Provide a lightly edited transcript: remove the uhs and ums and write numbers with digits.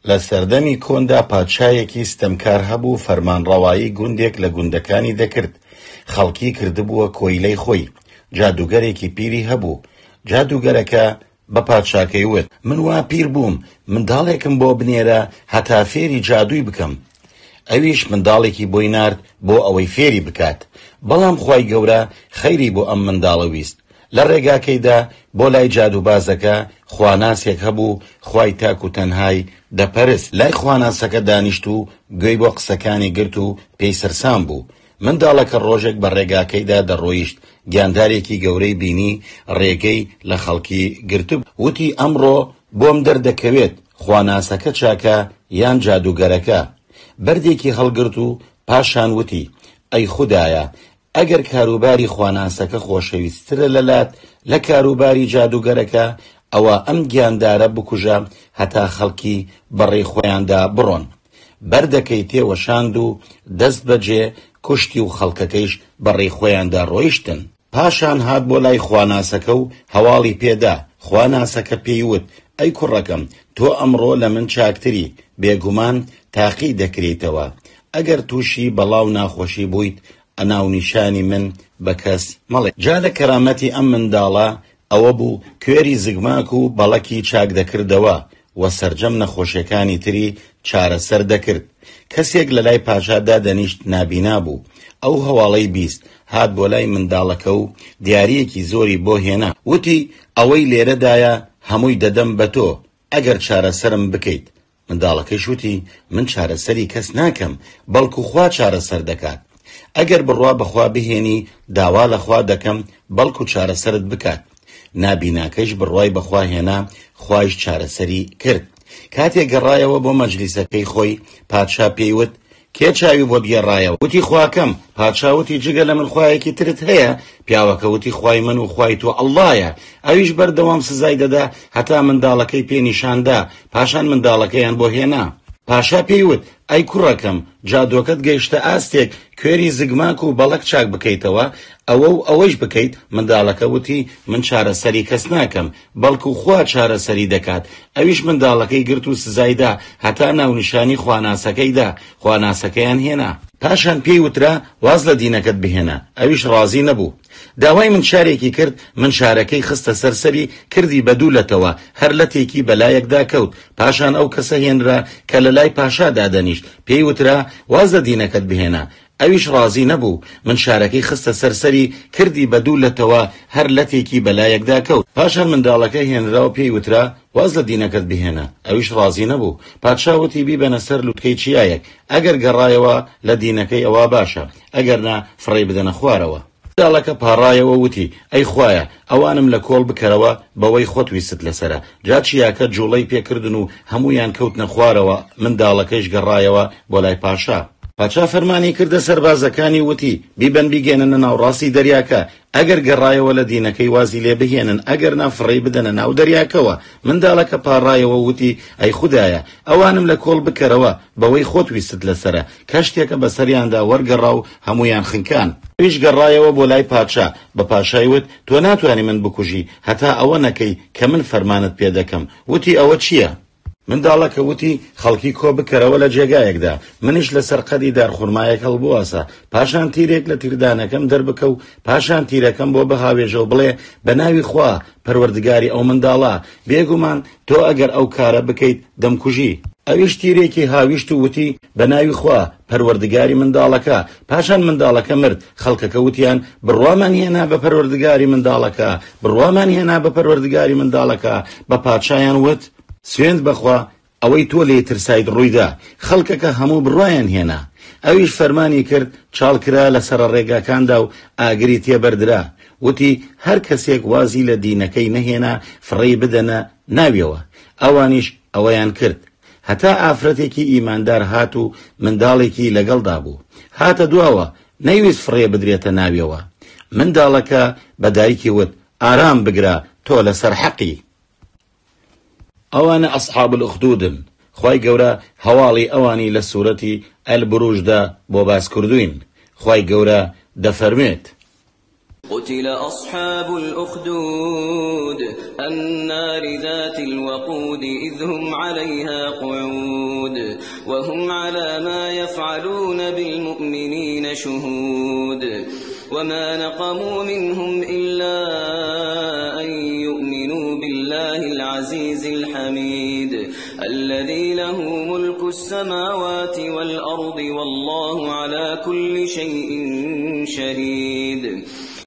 لە سەردەمی کۆندا پادشایەکی ستەمکار هەبوو فەرمانڕەوایی گوندێک لە گوندەکانی دەکرد، خەڵکی کردبووە کۆیلەی خۆی، جادووگەرێکی پیری هەبوو، جادووگەرەکە بە پادشاکەی وت. من وا پیر بووم، منداڵێکم بۆ بنێرە هەتا فێری جادووی بکەم. ئەویش منداڵێکی بۆی نارد بۆ ئەوەی فێری بکات، بەڵام خوای گەورە خەیری بۆ ئەم منداڵە ویست، لە ڕێگاکەیدا بۆ لای جادووبازەکە خواناسێک هەبوو خوای تاک و تەنهای دەپەرست، لای خواناسەکە دانیشت و گوێی بۆ قسەکانی گرت و پێی سەرسام بوو. منداڵەکە ڕۆژێک بە ڕێگاکەیدا دەڕۆیشت، گیاندارێکی گەورەی بینی ڕێگەی لە خەڵکی گرتبوو، وتی ئەمڕۆ بۆم دەردەکەوێت خواناسەکە چاکە یان جادووگەرەکە، بەردێکی هەڵگرت و پاشان وتی ئەی خودایە ئەگەر کاروباری خواناسەکە خۆشەویستترە لەلات لە کاروباری جادووگەرەکە، ئەوا ئەم گیاندارە بکوژە هەتا خەڵکی بەڕێی خۆیاندا بڕۆن. بەردەکەی تێوەشاند و دەست بەجێ کوشتی و خەڵکەکەیش بەڕێی خۆیاندا ڕۆیشتن. پاشان هات بۆ لای خواناسەکە و هەواڵی پێ دا، خواناسەکە پێی وت، ئەی کوڕەکەم، تۆ ئەمڕۆ لە من چاکتری، بێگومان تاقی دەکرێیتەوە، ئەگەر تووشی بەڵا و ناخۆشی بوویت، ناونیشانی من بە کەس مەڵێ. جا لە کەرامەتی ئەم منداڵە ئەوە بوو کوێری زگماک و بەڵەکی چاک دەکردەوە و سەرجەم نەخۆشیەکانی تری چارەسەر دەکرد. کەسێک لە لای پاشا دادەنیشت نابینا بوو. ئەو هەواڵەی بیست، هات بۆ لای منداڵەکە و دیارییەکی زۆری بۆ هێنا. وتی، ئەوەی لێرەدایە هەمووی دەدەم بە تۆ، ئەگەر چارەسەرم بکەیت. منداڵەکەیش وتی، من چارەسەری کەس ناکەم، بەڵکو خوا چارەسەر دەکات. ئەگەر بڕوا بە خوا بهێنی، داوا لە خوا دەکەم بەڵکو چارەسەرت بکات. نابیناکەیش بڕوای بە خوا هێنا، خوایش چارەسەری کرد. کاتێ گەڕایەوە بۆ مەجلیسەکەی خۆی، پادشا پێی وت، کێ چاوی بۆت گێڕایەوە؟ وتی، خواکەم. پادشا وتی، جگە لە من خوایەکی ترت هەیە؟ پیاوەکە وتی، خوای من و خوای تۆ ئەڵڵایە. ئەویش بەردەوام سزای دەدا هەتا منداڵەکەی پێ نیشان دا، پاشان منداڵەکەیان بۆ هێنا. پاشا پێی وت، ئەی کوڕەکەم، جادۆکەت گەیشتە ئاستێک کوێری زگماک و بەڵەک چاک بکەیتەوە، ئەوە و ئەوەیش بکەیت؟ منداڵەکە وتی، من چارەسەری کەس ناکەم، بەڵکو خوا چارەسەری دەکات، ئەویش منداڵەکەی گرت و سزای دا هەتا ناونیشانی خواناسەکەی دا، خواناسەکەیان هێنا. پاشان پێی وترا واز لە دینەکەت بهێنە، ئەویش ڕازی نەبوو. داوای منشارێکی کرد، منشارەکەی خستە سەر سەری، کردی بە دوو لەتەوە، هەر لەتێکی بە لایەکدا کەوت، پاشان ئەو کەسە هێنرا کە لە لای پاشا دادەنیشت، پێی وترا واز لە دینەکەت بهێنە، ئەویش ڕازی نەبوو، منشارەکەی خستە سەر سەری، کردی بە دوو لەتەوە، هەر لەتێکی بە لایەکدا کەوت. پاشان منداڵەکە هێنرا و پێی وترا، واز لە دینەکەت بهێنە. ئەویش ڕازی نەبوو. پادشا وتی، بیبەنە سەر لوتکەی چیایەک، ئەگەر گەڕایەوە لە دینەکەی ئەوا باشە، ئەگەر نا فڕێی بدەنە خوارەوە. منداڵەکە پاڕایەوە وتی، ئەی خوایە، ئەوانم لە کۆڵ بکەرەوە بەوەی خۆت ویستت لەسەرە. جا چیاکە جوڵەی پێ کردن و هەموویان کەوتنە خوارەوە، منداڵەکەیش گەڕایەوە بۆ لای پاشا. پاشا فەرمانی کردە سەربازەکانی و وتی، بیبەن بیگەیەننە ناوڕاستی دەریاکە، ئەگەر گەڕایەوە لە دینەکەی وازی لێ بهێنن، ئەگەرنا فڕێی بدەنە ناو دەریاکەوە. منداڵەکە پاڕایەوە و وتی، ئەی خودایە، ئەوانم لە کۆڵ بکەرەوە بەوەی خۆت ویستت لەسەرە. کەشتیەکە بەسەریاندا وەرگەڕا و هەموویان خنکان. ئەویش گەڕایەوە بۆ لای پادشا، بە پاشای وت، تۆ ناتوانی من بکوژی، هەتا ئەوە نەکەی کە من فەرمانت پێ دەکەم. وتی، ئەوە چییە؟ منداڵەکە وتی، خەڵکی کۆ بکەرەوە لە جێگایەکدا، منیش لەسەر قەدی دارخورمایەک هەڵبواسە، پاشان تیرێک لە تیردانەکەم دەربکە و پاشان تیرەکەم بۆ بهاوێژە و بڵێ، بە ناوی خوا، پەروەردگاری ئەو منداڵە، بێگومان تۆ ئەگەر ئەو کارە بکەیت دەمکوژی. ئەویش تیرێکی هاویشت و وتی، بە ناوی خوا، پەروەردگاری منداڵەکە. پاشان منداڵەکە مرد، خەڵکەکە وتیان، بڕوامان هێنا بە پەروەردگاری منداڵەکە، بڕوامان هێنا بە پەروەردگاری منداڵەکە. بە پادشایان وت، سوێند بە خوا، ئەوەی تۆ لێی ترسایت ڕوویدا، خەڵکەکە هەموو بڕوایان هێنا. ئەویش فەرمانی کرد، چاڵ کرا لە سەرەڕێگاکاندا و ئاگری تێبەردرا. وتی، هەر کەسێک وازی لە دینەکەی نەهێنا فڕێی بدەنە ناویەوە. ئەوانیش ئەوەیان کرد. هەتا ئافرەتێکی ئیماندار هات و منداڵێکی لەگەڵدا بوو. هاتە دواوە، نەیویست فڕێ بدرێتە ناویەوە. منداڵەکە بە دایکی وت، ئارام بگرە، تۆ لەسەر حەقی. ئەوانە اصحاب الاخدودن، خوای گەورە هەواڵی ئەوانی لە سورەتی البروج دا بۆ باس کردووین، خوای گەورە دەفەرموێت. قتل اصحاب الاخدود النار ذات الوقود اذ هم علیها قعود. وهم على ما يفعلون بالمؤمنين شهود وما نقموا منهم إلا أن يؤمنوا بالله العزيز الحميد الذي له ملك السماوات والأرض والله على كل شيء شهيد.